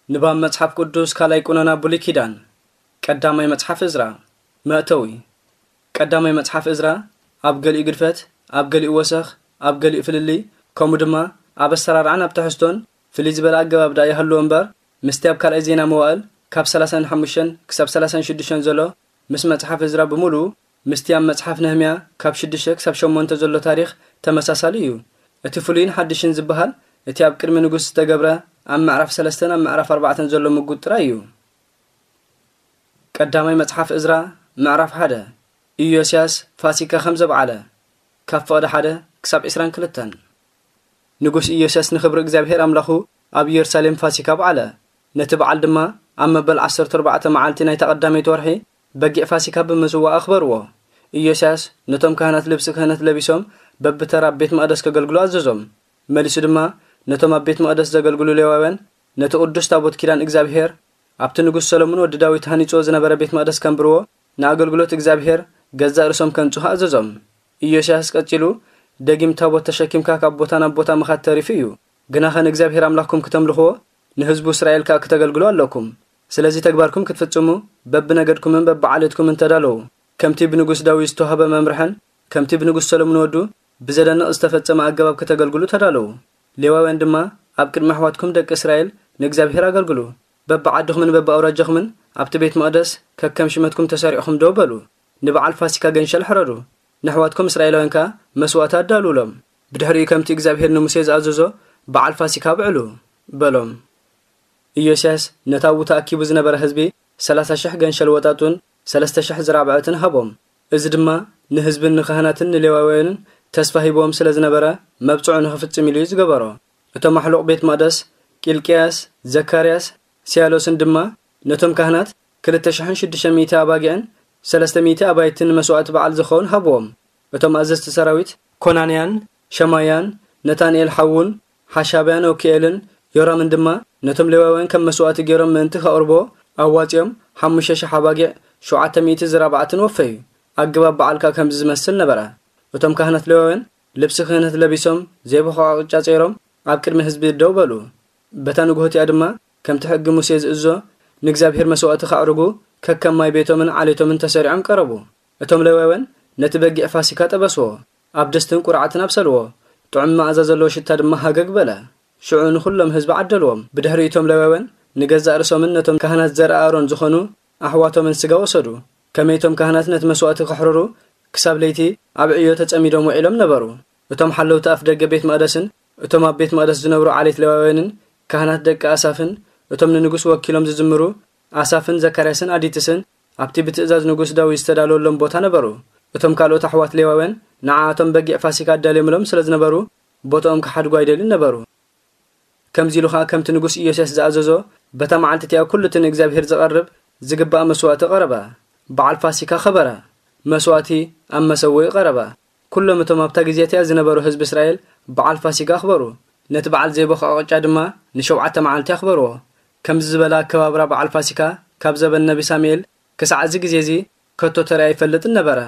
ንባብ መጽሓፍ ቅዱስ ካልኣይ ቁነና ብሉይ ኪዳን። ቀዳማይ መጽሓፍ እዝራ። መእተዊ። ቀዳማይ መጽሓፍ እዝራ ኣብ ገሊኡ ግድፈት፣ ኣብ ገሊኡ ወሰኽ፣ ኣብ ገሊኡ ፍልልይ፣ ከምኡ ድማ ኣብ ኣሰራርዓን ኣብ ትሕዝቶን ፍልይ ዝበለ ኣገባብ ደኣ ይሃልዎ እምበር፣ ምስቲ ኣብ ካልኣይ ዜና መዋእል ካብ ሰላሳን ሓሙሽተን ክሳብ ሰላሳን ሽዱሽተን ዘሎ ምስ መጽሓፍ እዝራ ብምሉኡ፣ ምስቲ ኣብ መጽሓፍ ነህምያ ካብ ሽዱሽተ ክሳብ ሸሞንተ ዘሎ ታሪኽ ተመሳሳሊ እዩ። እቲ ፍሉይን ሓድሽን ዝበሃል፣ እቲ ኣብ ቅድሚ ንጉስ ዝተገብረ ኣብ ምዕራፍ ሰለስተን ኣብ ምዕራፍ ኣርባዕተን ዘሎ ምጉት ጥራይ እዩ። ቀዳማይ መጽሓፍ እዝራ ምዕራፍ ሓደ። ኢዮስያስ ፋሲካ ከም ዘብዓለ፣ ካብ ፍቕዲ ሓደ ክሳብ ዕስራን ክልተን። ንጉስ ኢዮስያስ ንኽብሪ እግዚኣብሔር ኣምላኹ ኣብ ኢየሩሳሌም ፋሲካ ኣብዓለ። ነቲ በዓል ድማ ኣብ መበል ዓሰርተ ኣርባዕተ መዓልቲ ናይታ ቀዳመይቲ ወርሒ በጊዕ ፋሲካ ብምስዋእ ኣኽበርዎ። ኢዮስያስ ነቶም ካህናት ልብሲ ክህነት ለቢሶም በብተራ ኣብ ቤት መቕደስ ከገልግሉ ኣዘዞም። መሊሱ ድማ ነቶም ኣብ ቤት መቕደስ ዘገልግሉ ሌዋውያን ነቲ ቅዱስ ታቦት ኪዳን እግዚኣብሔር ኣብቲ ንጉስ ሰሎሞን ወዲ ዳዊት ሃኒጽዎ ዝነበረ ቤት መቕደስ ከንብርዎ፣ ንኣገልግሎት እግዚኣብሔር ገዛእ ርእሶም ከንጽሁ ኣዘዞም። ኢዮስያስ ቀጺሉ፣ "ደጊም ታቦት ተሸኪምካ ካብ ቦታ ናብ ቦታ ምኻድ ተሪፉ እዩ። ግናኸ ንእግዚኣብሔር ኣምላኽኩም ክተምልኽዎ፣ ንህዝቡ እስራኤል ከኣ ክተገልግሉ ኣለኩም። ስለዚ ተግባርኩም ክትፍጽሙ፣ በብነገድኩምን በብዓሌትኩምን ተዳለዉ። ከምቲ ብንጉስ ዳዊት ዝተዋህበ መምርሕን ከምቲ ብንጉስ ሰሎሞን ወዱ ብዘደንቕ ዝተፈጸመ ኣገባብ ከተገልግሉ ተዳለዉ። ሌዋውያን ድማ ኣብ ቅድሚ ኣሕዋትኩም ደቂ እስራኤል ንእግዚኣብሔር ኣገልግሉ። በብዓድኹምን በብኣውራጃኹምን ኣብቲ ቤት መቕደስ ከከም ሽመትኩም ተሰሪዕኹም ደው በሉ። ንበዓል ፋሲካ ገንሸል ሕረዱ። ንኣሕዋትኩም እስራኤላውያን ከኣ መስዋእቲ ኣዳልውሎም። ብድሕሪኡ ከምቲ እግዚኣብሔር ንሙሴ ዝኣዘዞ በዓል ፋሲካ ኣብዕሉ" በሎም። ኢዮስያስ ነቲ ኣብኡ ተኣኪቡ ዝነበረ ህዝቢ ሰላሳ ሽሕ ገንሸል ወጣጡን ሰለስተ ሽሕ ዝራብዐትን ሃቦም። እዚ ድማ ንህዝብን ንካህናትን ንሌዋውያንን ተስፋ ሂብዎም ስለ ዝነበረ፣ መብጽዑ ንኽፍጽም ኢሉ እዩ ዝገበሮ። እቶም ኣሕሉቕ ቤት መቕደስ፣ ቂልቅያስ፣ ዘካርያስ፣ ስያሎስን ድማ ነቶም ካህናት ክልተ ሽሕን ሽዱሽተ ሚእቲ ኣባጊዕን ሰለስተ ሚእቲ ኣባይትን ንመስዋእቲ በዓል ዝኸውን ሃብዎም። እቶም ኣዘዝቲ ሰራዊት፣ ኮናንያን፣ ሸማያን፣ ነታንኤል ሓዉን፣ ሓሻብያን ኡኪኤልን ዮራምን ድማ ነቶም ሌዋውያን ከም መስዋእቲ ገይሮም ምእንቲ ከቕርቦ ኣዋጺኦም ሓሙሽተ ሽሕ ኣባጊዕ፣ ሸውዓተ ሚእቲ ዝራብዓትን ወፈዩ። ኣገባብ በዓል ከኣ ከምዚ ዝመስል ነበረ። እቶም ካህናት ሌዋውያን ልብሲ ክህነት ለቢሶም፣ ዘይቦኸቕ ቅጫ ጸይሮም፣ ኣብ ቅድሚ ህዝቢ ደው በሉ። በታ ንግሆ እቲኣ ድማ ከምቲ ሕጊ ሙሴ ዝእዞ ንእግዚኣብሔር መስዋእቲ ከዕርጉ ከከም ማይ ቤቶምን ዓሌቶምን ተሰሪዖም ቀረቡ። እቶም ሌዋውያን ነቲ በጊዕ ፋሲካ ጠበስዎ፣ ኣብ ድስትን ቁርዓትን ኣብሰልዎ። ጥዑም መኣዛ ዘለዎ ሽታ ድማ ሃገግ በለ። ሽዑ ንኹሎም ህዝቢ ዓደልዎም። ብድሕሪ እቶም ሌዋውያን ንገዛእ ርእሶምን ነቶም ካህናት ዘርኣ ኣሮን ዝኾኑ ኣሕዋቶምን ስጋ ወሰዱ። ከመይ እቶም ካህናት ነቲ መስዋእቲ ከሕርሩ ክሳብ ለይቲ ኣብ ዕዮ ተጸሚዶም ውዒሎም ነበሩ። እቶም ሓለውቲ ኣፍ ደገ ቤት መቕደስን እቶም ኣብ ቤት መቕደስ ዝነብሩ ዓሌት ሌዋውያንን ካህናት ደቂ ኣሳፍን እቶም ንንጉስ ወኪሎም ዝዝምሩ ኣሳፍን ዘካርያስን ኣዲትስን ኣብቲ ብትእዛዝ ንጉስ ዳዊት ዝተዳለወሎም ቦታ ነበሩ። እቶም ካልኦት ኣሕዋት ሌዋውያን ንዓኣቶም በጊዕ ፋሲካ ኣዳልዮምሎም ስለ ዝነበሩ ቦታኦም ክሓድጉ ኣይደልን ነበሩ። ከምዚ ኢሉ ኸኣ ከምቲ ንጉስ ኢዮስያስ ዝኣዘዞ በታ መዓልቲ እቲኣ ኩሉ እቲ ንእግዚኣብሔር ዝቐርብ ዝግባእ መስዋእቲ ቀረበ። በዓል ፋሲካ ኸበረ። መስዋእቲ ኣብ መሰውኢ ቀረበ። ኩሎም እቶም ኣብታ ግዜ እቲኣ ዝነበሩ ህዝቢ እስራኤል በዓል ፋሲካ ኣኽበሩ። ነቲ በዓል ዘይቦኸቐ ቅጫ ድማ ንሸውዓተ መዓልቲ ኣኽበርዎ። ከምዚ ዝበለ ኣከባብራ በዓል ፋሲካ ካብ ዘበን ነቢ ሳሙኤል ክሳዕ እዚ ግዜ እዚ ከቶ ተራእዩ ኣይፈልጥን ነበረ።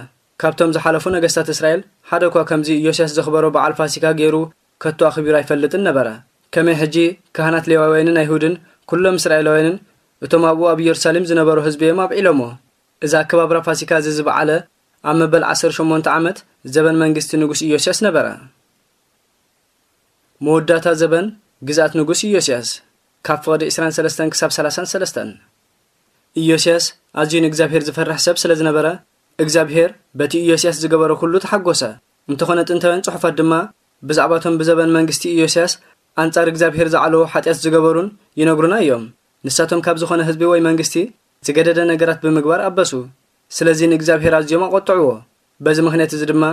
ካብቶም ዝሓለፉ ነገስታት እስራኤል ሓደ እኳ ከምዚ ኢዮስያስ ዘኽበሮ በዓል ፋሲካ ገይሩ ከቶ ኣኽቢሩ ኣይፈልጥን ነበረ። ከመይ ሕጂ ካህናት ሌዋውያንን ኣይሁድን ኩሎም እስራኤላውያንን እቶም ኣብኡ ኣብ ኢየሩሳሌም ዝነበሩ ህዝቢ እዮም ኣብዒሎሞ። እዚ ኣከባብራ ፋሲካ እዚ ዝበዓለ ኣብ መበል ዓሰርተ ሸሞንተ ዓመት ዘበን መንግስቲ ንጉስ ኢዮስያስ ነበረ። መወዳእታ ዘበን ግዝኣት ንጉስ ኢዮስያስ፣ ካብ ፍቕዲ ዕስራን ሰለስተን ክሳብ ሰላሳን ሰለስተን። ኢዮስያስ ኣዝዩ ንእግዚኣብሔር ዝፈርሕ ሰብ ስለ ዝነበረ፣ እግዚኣብሔር በቲ ኢዮስያስ ዝገበሮ ኩሉ ተሓጎሰ። እንተኾነ ጥንታውያን ጽሑፋት ድማ ብዛዕባቶም ብዘበን መንግስቲ ኢዮስያስ ኣንጻር እግዚኣብሔር ዝዓለዎ ሓጢኣት ዝገበሩን ይነግሩና እዮም። ንሳቶም ካብ ዝኾነ ህዝቢ ወይ መንግስቲ ዝገደደ ነገራት ብምግባር ኣበሱ። ስለዚ ንእግዚኣብሔር ኣዝዮም ኣቖጥዕዎ። በዚ ምኽንያት እዚ ድማ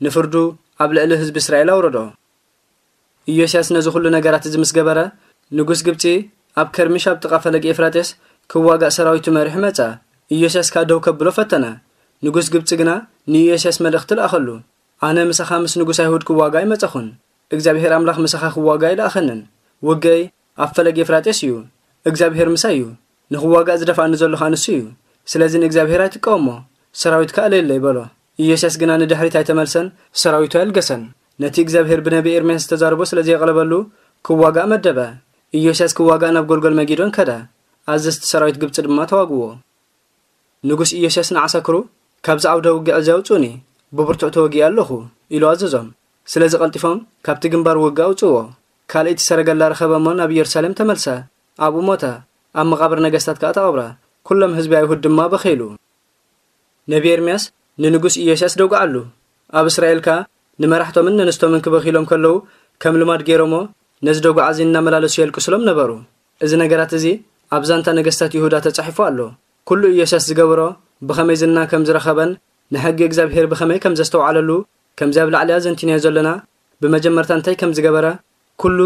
ንፍርዱ ኣብ ልዕሊ ህዝቢ እስራኤል ኣውረዶ። ኢዮስያስ ነዚ ኹሉ ነገራት እዚ ምስ ገበረ፣ ንጉስ ግብጺ ኣብ ከርሚሽ ኣብ ጥቓ ፈለግ ኤፍራጤስ ክዋጋእ ሰራዊቱ መሪሑ መጸ። ኢዮስያስ ከኣ ደው ከብሎ ፈተነ። ንጉስ ግብጺ ግና ንኢዮስያስ መልእኽቲ ለኣኸሉ። "ኣነ ምሳኻ ምስ ንጉስ ኣይሁድ ክዋጋእ ኣይመጸኹን። እግዚኣብሔር ኣምላኽ ምሳኻ ክዋጋእ ኣይለኣኸንን። ውግአይ ኣብ ፈለግ ኤፍራጤስ እዩ። እግዚኣብሔር ምሳይ እዩ። ንኽዋጋእ ዝደፍኣኒ ዘሎ ኸኣ ንሱ እዩ። ስለዚ ንእግዚኣብሔር ኣይትቃወሞ። ሰራዊትካ ኣለየለይ" በሎ። ኢዮስያስ ግና ንድሕሪት ኣይተመልሰን፣ ሰራዊቱ ኣየልገሰን። ነቲ እግዚኣብሔር ብነቢ ኤርምያስ ዝተዛረቦ ስለ ዘየቕለበሉ፣ ክዋጋእ መደበ። ኢዮስያስ ክዋጋእ ናብ ጎልጎል መጊዶን ከደ። ኣዘዝቲ ሰራዊት ግብጺ ድማ ተዋግዎ። ንጉስ ኢዮስያስ ንዓሳክሩ፣ "ካብዚ ዓውደ ውግዕ እዚ ኣውጹኒ፣ ብብርቱዕ ተወጊእ ኣለኹ" ኢሉ ኣዘዞም። ስለዚ ቀልጢፎም ካብቲ ግንባር ውግእ ኣውጽዎ። ካልኣይቲ ሰረገላ ረኸበ እሞ ናብ ኢየሩሳሌም ተመልሰ። ኣብኡ ሞተ። ኣብ መቓብር ነገስታት ከኣ ተቐብረ። ኩሎም ህዝቢ ኣይሁድ ድማ በኸይሉ። ነቢ ኤርምያስ ንንጉስ ኢዮስያስ ደጉዓሉ። ኣብ እስራኤል ከኣ ንመራሕቶምን ነንስቶምን ክበኽይሎም ከለዉ ከም ልማድ ገይሮሞ ነዚ ደጉዓ እዚ እናመላለሱ የልቅስሎም ነበሩ። እዚ ነገራት እዚ ኣብ ዛንታ ነገስታት ይሁዳ ተጻሒፉ ኣሎ። ኩሉ ኢዮስያስ ዝገበሮ ብኸመይ ዝና ከም ዝረኸበን ንሕጊ እግዚኣብሔር ብኸመይ ከም ዘስተውዓለሉ ከምዚ ኣብ ላዕሊ ኣዘንቲናዮ ዘለና ብመጀመርታ እንታይ ከም ዝገበረ ኩሉ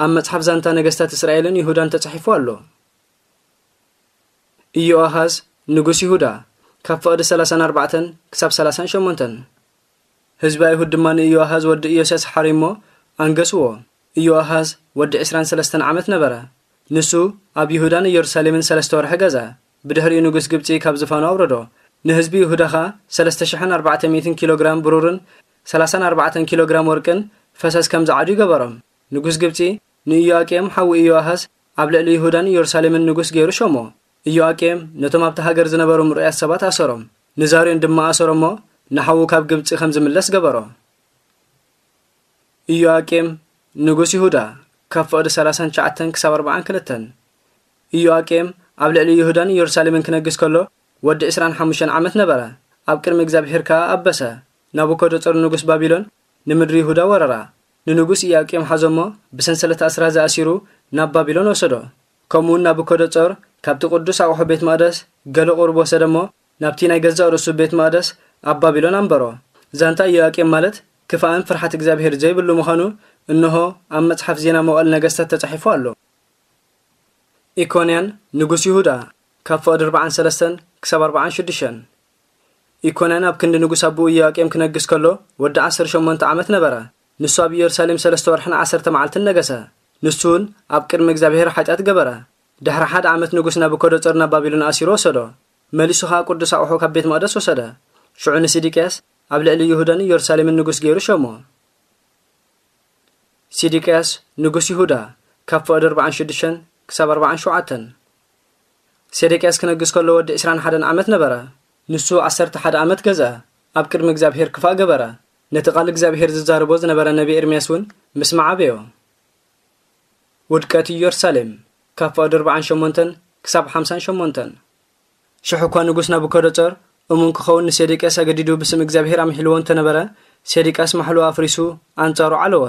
ኣብ መጽሓፍ ዛንታ ነገስታት እስራኤልን ይሁዳን ተጻሒፉ ኣሎ። ኢዮኣሃዝ ንጉስ ይሁዳ ካብ ፍቕዲ ሰላሳን ኣርባዕተን ክሳብ ሰላሳን ሸሞንተን። ህዝቢ ኣይሁድ ድማ ንኢዮኣሃዝ ወዲ ኢዮስያስ ሓሪሞ ኣንገስዎ። ኢዮኣሃዝ ወዲ ዕስራን ሰለስተን ዓመት ነበረ። ንሱ ኣብ ይሁዳን ኢየሩሳሌምን ሰለስተ ወርሒ ገዛ። ብድሕሪኡ ንጉስ ግብጺ ካብ ዝፋኑ ኣውረዶ። ንህዝቢ ይሁዳ ኸኣ ሰለስተ ሽሕን ኣርባዕተ ሚእትን ኪሎ ግራም ብሩርን ሰላሳን ኣርባዕተን ኪሎ ግራም ወርቅን ፈሰስ ከም ዝዓዱ ይገበሮም። ንጉስ ግብጺ ንኢዮኣቄም ሓዉ ኢዮኣሃዝ ኣብ ልዕሊ ይሁዳን ኢየሩሳሌምን ንጉስ ገይሩ ሸሞ። ኢዮኣቄም ነቶም ኣብቲ ሃገር ዝነበሩ ምሩያት ሰባት ኣሰሮም። ንዛርዮን ድማ ኣሰሮ እሞ ንሓዉ ካብ ግብጺ ከም ዝምለስ ገበሮ። ኢዮኣቄም ንጉስ ይሁዳ ካብ ፍቕዲ ሰላሳን ትሽዓተን ክሳብ ኣርባዓን ክልተን። ኢዮኣቄም ኣብ ልዕሊ ይሁዳን ኢየሩሳሌምን ክነግስ ከሎ ወዲ ዕስራን ሓሙሽተን ዓመት ነበረ። ኣብ ቅድሚ እግዚኣብሔር ከኣ ኣበሰ። ናቡከደጾር ንጉስ ባቢሎን ንምድሪ ይሁዳ ወረራ። ንንጉስ ኢዮኣቄም ሓዞ እሞ ብሰንሰለት ኣስራዚ ኣሲሩ ናብ ባቢሎን ወሰዶ። ከምኡውን ናቡከደጾር ካብቲ ቅዱስ ኣቑሑ ቤት መቕደስ ገለ ቁሩብ ወሰደ እሞ ናብቲ ናይ ገዛእ ርእሱ ቤት መቕደስ ኣብ ባቢሎን ኣንበሮ። ዛንታ ኢዮኣቄም ማለት ክፋእን ፍርሓት እግዚኣብሔር ዘይብሉ ምዃኑ እንሆ ኣብ መጽሓፍ ዜና መዋእል ነገስታት ተጻሒፉ ኣሎ። ኢኮንያን ንጉስ ይሁዳ ካብ ፍቕዲ ኣርባዓን ሰለስተን ክሳብ ኣርባዓን ሽዱሽተን። ኢኮንያን ኣብ ክንዲ ንጉስ ኣቦኡ ኢዮኣቄም ክነግስ ከሎ ወዲ ዓሰርተ ሸሞንተ ዓመት ነበረ። ንሱ ኣብ ኢየሩሳሌም ሰለስተ ወርሕን ዓሰርተ መዓልትን ነገሰ። ንሱ እውን ኣብ ቅድሚ እግዚኣብሔር ሓጢኣት ገበረ። ድሕሪ ሓደ ዓመት ንጉስ ናቡከደጾር ናብ ባቢሎን ኣሲሩ ወሰዶ። መሊሱ ኸኣ ቅዱስ ኣቑሑ ካብ ቤት መቕደስ ወሰደ። ሽዑ ንሲዲቅያስ ኣብ ልዕሊ ይሁዳን ኢየሩሳሌምን ንጉስ ገይሩ ሸሞ። ሲዲቅያስ ንጉስ ይሁዳ ካብ ፍቕዲ ኣርባዓን ሽዱሽተን ክሳብ ኣርባዓን ሸውዓተን። ሴዴቅያስ ክነግስ ከሎ ወዲ ዕስራን ሓደን ዓመት ነበረ። ንሱ ዓሰርተ ሓደ ዓመት ገዝአ። ኣብ ቅድሚ እግዚኣብሔር ክፋእ ገበረ። ነቲ ቃል እግዚኣብሔር ዝዛረቦ ዝነበረ ነቢ ኤርምያስ እውን ምስማዕ ኣበዮ። ውድቀት ኢየሩሳሌም ካብ ፍቕዲ ኣርባዓን ሸሞንተን ክሳብ ሓምሳን ሸሞንተን። ሽሕ እኳ ንጉስ ናቡከደጾር እሙን ክኸውን ንሴዴቅያስ ኣገዲዱ ብስም እግዚኣብሔር ኣምሒልዎ እንተነበረ፣ ሴዴቅያስ ማሕልኡ ኣፍሪሱ ኣንጻሩ ዓለወ።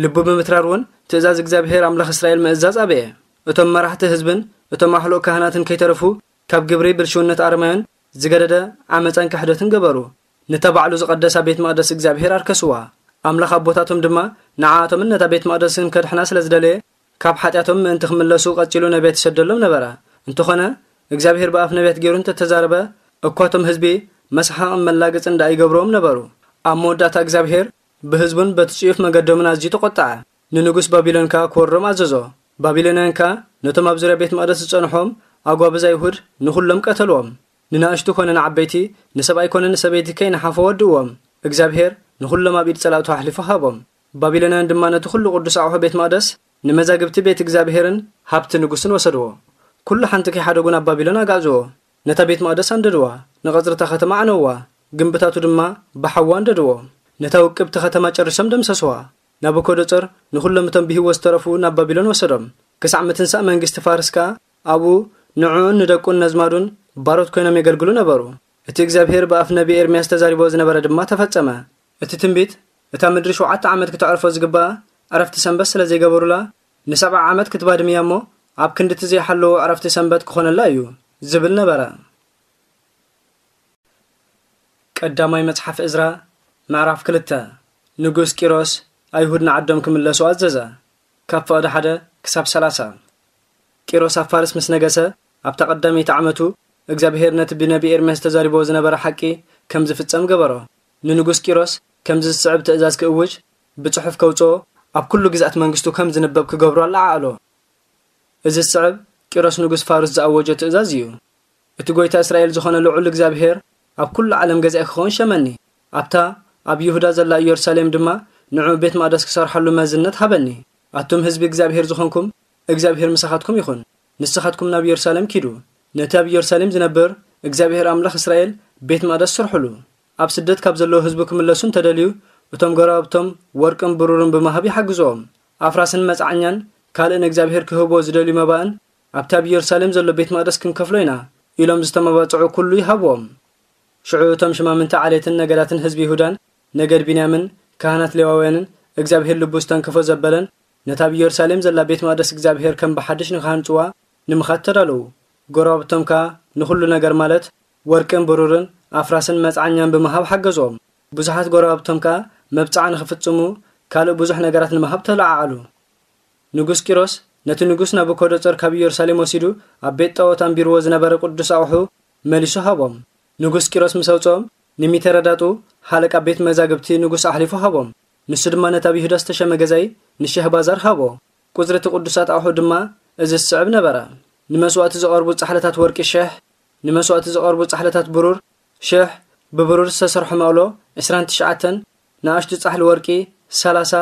ልቡ ብምትራር እውን ትእዛዝ እግዚኣብሔር ኣምላኽ እስራኤል ምእዛዝ ኣበየ። እቶም መራሕቲ ህዝብን እቶም ኣሕሉቕ ካህናትን ከይተረፉ ካብ ግብሪ ብልሽውነት ኣረማዮን ዝገደደ ዓመጻን ክሕደትን ገበሩ። ነታ ባዕሉ ዝቐደሳ ቤት መቕደስ እግዚኣብሔር ኣርከስዋ። ኣምላኽ ኣቦታቶም ድማ ንዓኣቶምን ነታ ቤት መቕደስን ከድሕና ስለ ዝደለየ፣ ካብ ሓጢኣቶም ምእንቲ ክምለሱ ቀጺሉ ነቢያት ይሰደሎም ነበረ። እንተኾነ፣ እግዚኣብሔር ብኣፍ ነቢያት ገይሩ እንተተዛረበ፣ እኳ እቶም ህዝቢ መስሓቕን መላገጽን ደኣ ይገብርዎም ነበሩ። ኣብ መወዳእታ እግዚኣብሔር ብህዝቡን በቲ ጽዩፍ መገዶምን ኣዝዩ ተቖጥዐ። ንንጉስ ባቢሎን ከኣ ክወርሮም ኣዘዞ። ባቢሎናውያን ከኣ ነቶም ኣብ ዙርያ ቤት መቕደስ ዝጸንሖም ኣጓብዝ ኣይሁድ ንኹሎም ቀተልዎም። ንናእሽቱ ኮነ ንዓበይቲ፣ ንሰብኣይ ኮነ ንሰበይቲ ከይነሓፎ ወድእዎም። እግዚኣብሔር ንኹሎም ኣብ ኢድ ጸላእቱ ኣሕሊፉ ሃቦም። ባቢሎናውያን ድማ ነቲ ኩሉ ቅዱስ ኣቑሑ ቤት መቕደስ፣ ንመዛግብቲ ቤት እግዚኣብሔርን ሃብቲ ንጉስን ወሰድዎ። ኩሉ ሓንቲ ከይሓደጉ ናብ ባቢሎን ኣጋዕዝዎ። ነታ ቤት መቕደስ ኣንደድዋ፣ ንቐጽርታ ከተማ ኣዕነውዋ፣ ግምብታቱ ድማ ብሓዊ ኣንደድዎ። ነታ ውቅብቲ ከተማ ጨሪሶም ደምሰስዋ። ናቡከደጾር ንኹሎም እቶም ብህይወት ዝተረፉ ናብ ባቢሎን ወሰዶም። ክሳዕ ምትንሳእ መንግስቲ ፋርስ ከኣ ኣብኡ ንዕኡን ንደቁን ነዝማዱን ባሮት ኮይኖም የገልግሉ ነበሩ። እቲ እግዚኣብሔር ብኣፍ ነቢ ኤርምያስ ተዛሪቦ ዝነበረ ድማ ተፈጸመ። እቲ ትንቢት፣ "እታ ምድሪ ሸውዓተ ዓመት ክተዕርፎ ዝግባኣ ዕረፍቲ ሰንበት ስለ ዘይገበሩላ፣ ንሰብዓ ዓመት ክትባድም እያ እሞ፣ ኣብ ክንዲ እቲ ዘይሓለዎ ዕረፍቲ ሰንበት ክኾነላ እዩ" ዝብል ነበረ። ቀዳማይ መጽሓፍ እዝራ፣ ምዕራፍ ክልተ። ንጉስ ቂሮስ ኣይሁድ ንዓዶም ክምለሱ ኣዘዘ። ካብ ፍቕዲ ሓደ ክሳብ ሰላሳ። ቂሮስ ኣብ ፋርስ ምስ ነገሰ፣ ኣብታ ቀዳመይቲ ዓመቱ፣ እግዚኣብሔር ነቲ ብነቢ ኤርምያስ ተዛሪብዎ ዝነበረ ሓቂ ከም ዝፍጸም ገበሮ። ንንጉስ ቂሮስ ከምዚ ዝስዕብ ትእዛዝ ክእውጅ፣ ብጽሑፍ ከውጽኦ፣ ኣብ ኩሉ ግዝኣት መንግስቱ ከም ዝንበብ ክገብሮ ኣለዓዕሎ። እዚ ዝስዕብ ቂሮስ ንጉስ ፋርስ ዝኣወጆ ትእዛዝ እዩ። እቲ ጐይታ እስራኤል ዝኾነ ልዑል እግዚኣብሔር ኣብ ኩሉ ዓለም ገዛኢ ክኸውን ሸመኒ። ኣብታ ኣብ ይሁዳ ዘላ ኢየሩሳሌም ድማ ንዕኡ ቤት መቕደስ ክሰርሓሉ መዝነት ሃበኒ። ኣቱም ህዝቢ እግዚኣብሔር ዝኾንኩም፣ እግዚኣብሔር ምሳኻትኩም ይኹን። ንስኻትኩም ናብ ኢየሩሳሌም ኪዱ፣ ነቲ ኣብ ኢየሩሳሌም ዝነብር እግዚኣብሔር ኣምላኽ እስራኤል ቤት መቕደስ ስርሑሉ። ኣብ ስደት ካብ ዘለዉ ህዝቡ ክምለሱ እንተደልዩ፣ እቶም ጎረባብቶም ወርቅን ብሩርን ብምሃብ ይሓግዝዎም። ኣፍራስን መጽዓኛን ካልእ ንእግዚኣብሔር ክህብዎ ዝደልዩ መባእን ኣብቲ ኣብ ኢየሩሳሌም ዘሎ ቤት መቕደስ ክንከፍሎ ኢና ኢሎም ዝተመባጽዑ ኩሉ ይሃብዎም። ሽዑ እቶም ሽማምንቲ ዓሌትን ነገዳትን ህዝቢ ይሁዳን ነገድ ቢንያምን ካህናት ሌዋውያንን እግዚኣብሔር ልቡ ዝተንከፎ ዘበለን ነታ ኣብ ኢየሩሳሌም ዘላ ቤት መቕደስ እግዚኣብሔር ከም ብሓድሽ ንኽሃንጽዋ ንምኻድ ተዳለዉ። ጎረባብቶም ከኣ ንኹሉ ነገር ማለት ወርቅን ብሩርን ኣፍራስን መጽዓኛን ብምሃብ ሓገዝዎም። ብዙሓት ጎረባብቶም ከኣ መብጽዓ ንኽፍጽሙ ካልእ ብዙሕ ነገራት ንምሃብ ተለዓዓሉ። ንጉስ ቂሮስ ነቲ ንጉስ ናቡኮዶጾር ካብ ኢየሩሳሌም ወሲዱ ኣብ ቤት ጣዖት ኣንቢርዎ ዝነበረ ቅዱስ ኣቑሑ መሊሱ ሃቦም። ንጉስ ቂሮስ ምስ ኣውጽኦም፣ ንሚተረዳጡ ሓለቃ ቤት መዛግብቲ ንጉስ ኣሕሊፉ ሃቦም። ንሱ ድማ ነቲ ኣብ ይሁዳ ዝተሸመ ገዛኢ ንሸህባዛር ሃቦ። ቁጽሪ እቲ ቅዱሳት ኣቑሑ ድማ እዚ ዝስዕብ ነበረ። ንመስዋእቲ ዝቐርቡ ጻሕልታት ወርቂ ሽሕ፣ ንመስዋእቲ ዝቐርቡ ጻሕልታት ብሩር ሽሕ፣ ብብሩር ዝተሰርሑ መቕሎ ዕስራን ትሽዓተን፣ ንኣሽቱ ጻሕሊ ወርቂ ሰላሳ፣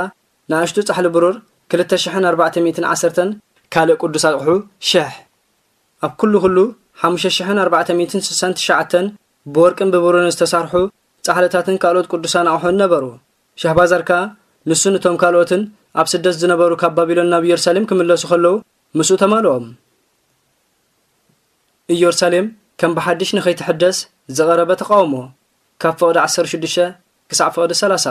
ንኣሽቱ ጻሕሊ ብሩር ክልተ ሽሕን ኣርባዕተ ሚእትን ዓሰርተን፣ ካልእ ቅዱስ ኣቑሑ ሽሕ። ኣብ ኩሉ ኩሉ ሓሙሽተ ሽሕን ኣርባዕተ ሚእትን ስሳን ትሽዓተን ብወርቅን ብብሩርን ዝተሰርሑ ጻሕልታትን ካልኦት ቅዱሳን ኣቑሑን ነበሩ። ሸህባዛር ከኣ ንሱን እቶም ካልኦትን ኣብ ስደት ዝነበሩ ካብ ባቢሎን ናብ ኢየሩሳሌም ክምለሱ ከለዉ ምስኡ ተማልኦም። ኢየሩሳሌም ከም ብሓድሽ ንኸይትሕደስ ዝቐረበ ተቓውሞ፣ ካብ ፍቕዲ ዓሰርተ ሽዱሽተ ክሳዕ ፍቕዲ ሰላሳ።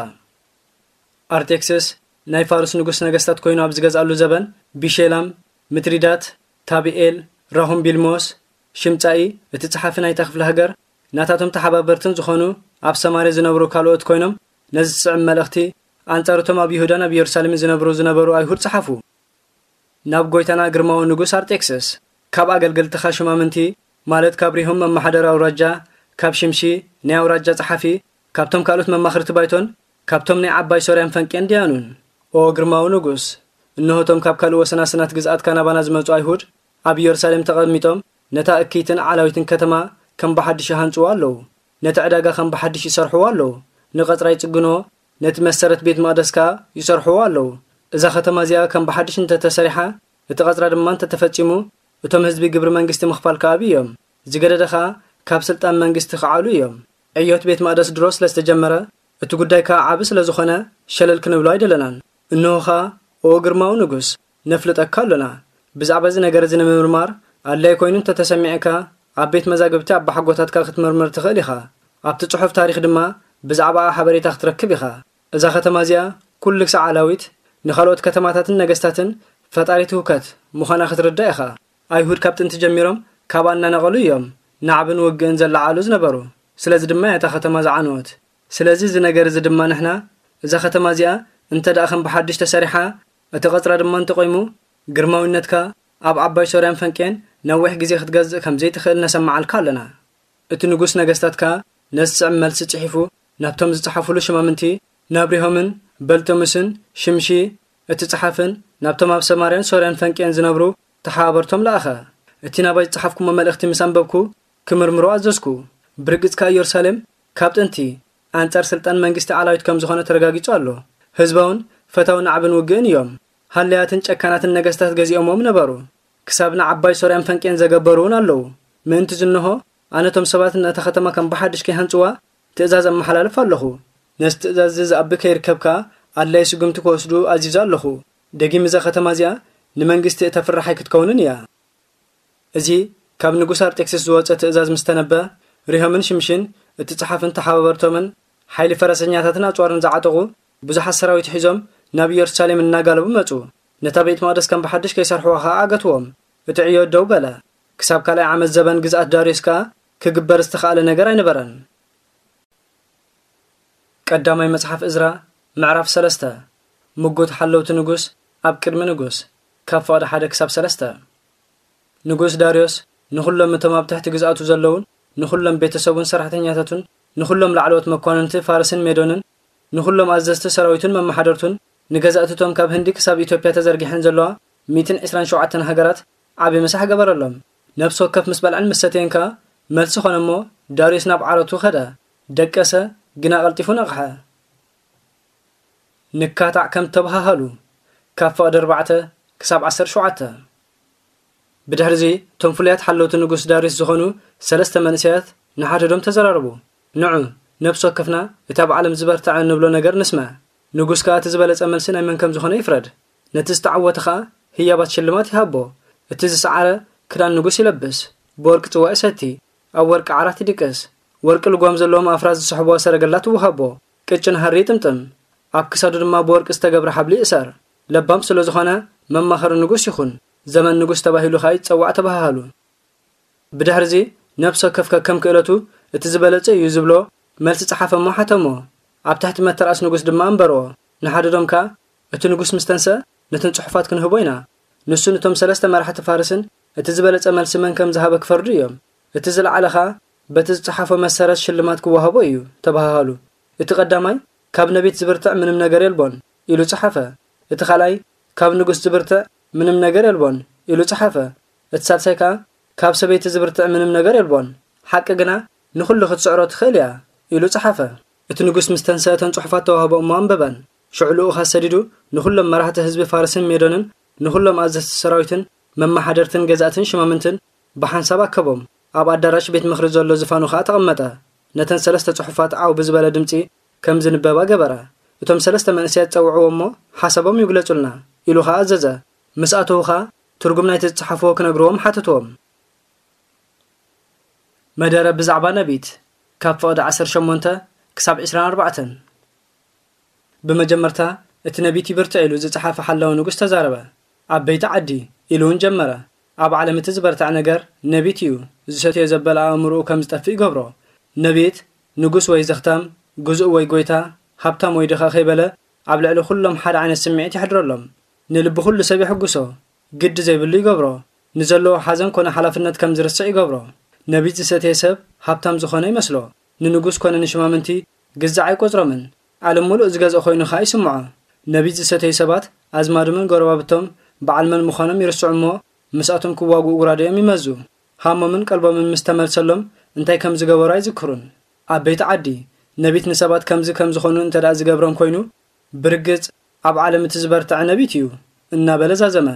ኣርጤክስስ ናይ ፋርስ ንጉስ ነገስታት ኮይኑ ኣብ ዝገዝኣሉ ዘበን፣ ቢሼላም፣ ምትሪዳት፣ ታብኤል፣ ራሁምቢልሞስ፣ ሽምጻኢ፣ እቲ ጸሓፊ ናይታ ክፍለ ሃገር፣ ናታቶም ተሓባበርትን ዝኾኑ ኣብ ሰማርያ ዝነብሩ ካልኦት ኮይኖም ነዚ ዝስዕብ መልእኽቲ ኣንጻር እቶም ኣብ ይሁዳን ኣብ ኢየሩሳሌምን ዝነብሩ ዝነበሩ ኣይሁድ ጸሓፉ። ናብ ጎይታና ግርማዊ ንጉስ ኣርጤክስስ፣ ካብ ኣገልገልትኻ ሹማምንቲ፣ ማለት ካብ ሪሆም መማሓደር ኣውራጃ፣ ካብ ሽምሺ ናይ ኣውራጃ ጸሓፊ፣ ካብቶም ካልኦት መማኽርቲ ባይቶን ካብቶም ናይ ዓባይ ሶርያን ፈንቅያን ድያኑን። ኦ ግርማዊ ንጉስ፣ እንሆ እቶም ካብ ካልእ ወሰናስናት ግዝኣትካ ናባና ዝመጹ ኣይሁድ ኣብ ኢየሩሳሌም ተቐሚጦም ነታ እክይትን ዓላዊትን ከተማ ከም ብሓድሽ ይሃንጽዋ ኣለዉ። ነቲ ዕዳጋ ከም ብሓድሽ ይሰርሕዎ ኣለዉ። ንቐጽራ ይጽግንዎ፣ ነቲ መሰረት ቤት መቕደስ ከኣ ይሰርሕዎ ኣለዉ። እዛ ከተማ እዚኣ ከም ብሓድሽ እንተ ተሰሪሓ፣ እቲ ቐጽራ ድማ እንተ ተፈጺሙ፣ እቶም ህዝቢ ግብሪ መንግስቲ ምኽፋል ክኣብዩ እዮም። ዝገደደ ኸኣ ካብ ስልጣን መንግስቲ ክዓሉ እዮም። ዕዮት ቤት መቕደስ ድሮ ስለ ዝተጀመረ፣ እቲ ጉዳይ ከኣ ዓቢ ስለ ዝኾነ፣ ሸለል ክንብሎ ኣይደለናን። እንሆ ኸኣ፣ ኦ ግርማዊ ንጉስ፣ ነፍልጠካ ኣሎና። ብዛዕባ እዚ ነገር እዚ ንምምርማር ኣድላዪ ኮይኑ እንተ ተሰሚዕካ፣ ኣብ ቤት መዛግብቲ ኣባሓጎታትካ ክትምርምር ትኽእል ኢኻ። ኣብቲ ጽሑፍ ታሪኽ ድማ ብዛዕባኣ ሓበሬታ ክትረክብ ኢኻ። እዛ ከተማ እዚኣ ኩሉ ክሳዕ ዓላዊት ንኻልኦት ከተማታትን ነገስታትን ፈጣሪት ህውከት ምዃና ክትርዳእ ኢኻ። ኣይሁድ ካብ ጥንቲ ጀሚሮም ካብኣ እናነቐሉ እዮም ናዕብን ውግእን ዘለዓዕሉ ዝነበሩ። ስለዚ ድማ እያ እታ ከተማ ዝዓነወት። ስለዚ እዚ ነገር እዚ ድማ ንሕና እዛ ከተማ እዚኣ እንተ ደኣ ከም ብሓድሽ ተሰሪሓ፣ እቲ ቐጽራ ድማ እንተቖይሙ፣ ግርማዊነትካ ኣብ ዓባይ ሶርያን ፈንቅያን ነዊሕ ግዜ ክትገዝእ ከም ዘይትኽእል ነሰምዓልካ ኣለና። እቲ ንጉስ ነገስታት ከኣ ነዚ ዝስዕብ መልሲ ጽሒፉ ናብቶም ዝጸሓፉሉ ሽማምንቲ፣ ናብ ሪሆምን በልቶምስን ሽምሺ እቲ ጸሓፍን ናብቶም ኣብ ሰማርያን ሶርያን ፈንቅያን ዝነብሩ ተሓባበርቶም ለኣኸ። እቲ ናባይ ዝጸሓፍኩሞ መልእኽቲ ምስ ኣንበብኩ፣ ክምርምሮ ኣዘዝኩ። ብርግጽ ከኣ ኢየሩሳሌም ካብ ጥንቲ ኣንጻር ስልጣን መንግስቲ ዓላዊት ከም ዝኾነ ተረጋጊጹ ኣሎ። ህዝባውን ፈታዊ ናዕብን ውግእን እዮም። ሃለያትን ጨካናትን ነገስታት ገዚኦሞም ነበሩ። ክሳብ ንዓባይ ሶርያን ፈንቅያን ዘገበሩ እውን ኣለዉ። ምእንቲ ዝንሆ፣ ኣነ እቶም ሰባት ነታ ከተማ ከም ብሓድሽ ከይሃንጽዋ ትእዛዝ ኣመሓላልፍ ኣለኹ። ነዚ ትእዛዝ እዚ ዝኣቢ ከይርከብ ከኣ ኣድላዪ ስጉምቲ ክወስዱ ኣዚዘ ኣለኹ። ደጊም እዛ ከተማ እዚኣ ንመንግስቲ እተፍርሕ ኣይክትከውንን እያ። እዚ ካብ ንጉስ ኣርጤክስስ ዝወጸ ትእዛዝ ምስ ተነበ፣ ሪሆምን ሽምሽን እቲ ጸሓፍን ተሓባበርቶምን ሓይሊ ፈረሰኛታትን ኣጽዋርን ዝዓጠቑ ብዙሓት ሰራዊት ሒዞም ናብ ኢየሩሳሌም እናጋለቡ መጹ። ነታ ቤት መቕደስ ከም ብሓድሽ ከይሰርሕዋ ኸኣ ኣገትዎም። እቲ ዕዮ ደው በለ። ክሳብ ካልኣይ ዓመት ዘበን ግዝኣት ዳርዮስ ከኣ ክግበር ዝተኻእለ ነገር ኣይነበረን። ቀዳማይ መጽሓፍ እዝራ ምዕራፍ ሰለስተ። ምጉት ሓለውቲ ንጉስ ኣብ ቅድሚ ንጉስ፣ ካብ ፍቕዲ ሓደ ክሳብ ሰለስተ። ንጉስ ዳርዮስ ንኹሎም እቶም ኣብ ትሕቲ ግዝኣቱ ዘለዉን ንኹሎም ቤተሰቡን ሰራሕተኛታቱን ንኹሎም ላዕለዎት መኳንንቲ ፋርስን ሜዶንን ንኹሎም ኣዘዝቲ ሰራዊቱን መመሓደርቱን ንገዛእቲ እቶም ካብ ህንዲ ክሳብ ኢትዮጵያ ተዘርጊሐን ዘለዋ ሚእትን ዕስራን ሸውዓተን ሃገራት ዓቢ ምሳሕ ገበረሎም። ነፍሲ ወከፍ ምስ በልዐን ምስ ሰተየን ከኣ መልሲ ኾነ እሞ ዳርዮስ ናብ ዓረቱ ኸደ። ደቀሰ፣ ግና ቀልጢፉ ነቕሐ። ንካታዕ ከም ተበሃሃሉ፣ ካብ ፍቕዲ ኣርባዕተ ክሳብ ዓሰርተ ሸውዓተ። ብድሕርዚ እቶም ፍሉያት ሓለውቲ ንጉስ ዳርዮስ ዝኾኑ ሰለስተ መንእሰያት ንሓድሕዶም ተዘራረቡ። ንዑ፣ ነብሲ ወከፍና እቲ ኣብ ዓለም ዝበርትዐ እንብሎ ነገር ንስምዕ። ንጉስ ከኣ እቲ ዝበለጸ መልሲ ናይ መን ከም ዝኾነ ይፍረድ። ነቲ ዝተዓወተ ኸኣ ህያባት ሽልማት ይሃቦ። እቲ ዝሰዓረ ክዳን ንጉስ ይለብስ፣ ብወርቂ ጽዋእ ይሰቲ፣ ኣብ ወርቂ ዓራት ይድቅስ፣ ወርቂ ልጓም ዘለዎም ኣፍራስ ዝስሕብዋ ሰረገላ ትወሃቦ፣ ቅጭን ሃሪ ይጥምጥም፣ ኣብ ክሳዱ ድማ ብወርቂ ዝተገብረ ሓብሊ ይእሰር። ለባም ስለ ዝኾነ መማኸሪ ንጉስ ይኹን፣ ዘመን ንጉስ ተባሂሉ ኸኣ ይጸዋዕ ተባሃሃሉ። ብድሕርዚ ነብሲ ወከፍ ከከም ክእለቱ እቲ ዝበለጸ እዩ ዝብሎ መልሲ ጸሓፈ እሞ ሓተሞ። ኣብ ትሕቲ መተርኣስ ንጉስ ድማ ኣንበርዎ። ንሓድዶም ከኣ እቲ ንጉስ ምስ ተንስአ ነተን ጽሑፋት ክንህቦ ኢና። ንሱ ነቶም ሰለስተ መራሕቲ ፋርስን እቲ ዝበለጸ መልሲ መን ከም ዝሃበ ክፈርዱ እዮም። እቲ ዝለዓለ ኸኣ በቲ ዝጸሓፎ መሰረት ሽልማት ክወሃቦ እዩ ተባሃሃሉ። እቲ ቀዳማይ ካብ ነቢት ዝብርትዕ ምንም ነገር የልቦን ኢሉ ጸሓፈ። እቲ ኻልኣይ ካብ ንጉስ ዝብርትዕ ምንም ነገር የልቦን ኢሉ ጸሓፈ። እቲ ሳልሳይ ከኣ ካብ ሰበይቲ ዝብርትዕ ምንም ነገር የልቦን፣ ሓቂ ግና ንኹሉ ክትስዕሮ ትኽእል እያ ኢሉ ጸሓፈ። እቲ ንጉስ ምስ ተንስአ እተን ጽሑፋት ተዋህቦ እሞ ኣንበበን። ሽዑ ልኡኻት ሰዲዱ ንኹሎም መራሕቲ ህዝቢ ፋርስን ሜዶንን ንኹሎም ኣዘዝቲ ሰራዊትን መመሓደርትን ገዛእትን ሽማምንትን ብሓንሳብ ኣከቦም። ኣብ ኣዳራሽ ቤት ምኽሪ ዘሎ ዝፋኑ ኸኣ ተቐመጠ። ነተን ሰለስተ ጽሑፋት ዓው ብዝበለ ድምጺ ከም ዝንበባ ገበረ። እቶም ሰለስተ መንእሰያት ጸውዕዎ እሞ ሓሳቦም ይግለጹልና ኢሉ ኸኣ ኣዘዘ። ምስ ኣተዉ ኸኣ ትርጉም ናይቲ ዝጸሓፍዎ ክነግርዎም ሓተትዎም። መደረ ብዛዕባ ነቢት ካብ ፍቕዲ ዓሰርተ ሸሞንተ ክሳብ ዕስራን ኣርባዕተን። ብመጀመርታ እቲ ነቢት ይብርትዕ ኢሉ ዝጸሓፈ ሓላዊ ንጉስ ተዛረበ። ኣብ በይቲ ዓዲ ኢሉ እውን ጀመረ። ኣብ ዓለም እቲ ዝበርትዐ ነገር ነቢት እዩ። ዝሰትዮ ዘበለ ኣእምሮኡ ከም ዝጠፍእ ይገብሮ። ነቢት ንጉስ ወይ ዘኽታም፣ ግዙእ ወይ ጎይታ፣ ሃብታም ወይ ድኻ ከይበለ ኣብ ልዕሊ ኩሎም ሓደ ዓይነት ስምዒት የሕድረሎም። ንልቢ ኩሉ ሰብ የሕጉሶ፣ ግዲ ዘይብሉ ይገብሮ። ንዘለዎ ሓዘን ኮነ ሓላፍነት ከም ዝርስዕ ይገብሮ። ነቢት ዝሰተየ ሰብ ሃብታም ዝኾነ ይመስሎ። ንንጉስ ኮነ ንሽማምንቲ ግዛዕ ኣይቆጽሮምን። ዓለም ምሉእ ዝገዝኦ ኮይኑ ኸኣ ይስምዖ። ነቢት ዝሰተዩ ሰባት ኣዝማዶምን ጎረባብቶም በዓል መን ምዃኖም ይርስዑ እሞ ምስኣቶም ክዋግኡ ጉራደዮም ይመዙ። ሃሞምን ቀልቦምን ምስ ተመልሰሎም እንታይ ከም ዝገበሩ ኣይዝክሩን። ኣብ በይቲ ዓዲ ነቢት ንሰባት ከምዚ ከም ዝኾኑ እንተ ደኣ ዝገብሮም ኮይኑ ብርግጽ ኣብ ዓለም እቲ ዝበርትዐ ነቢት እዩ እናበለ ዛዘመ።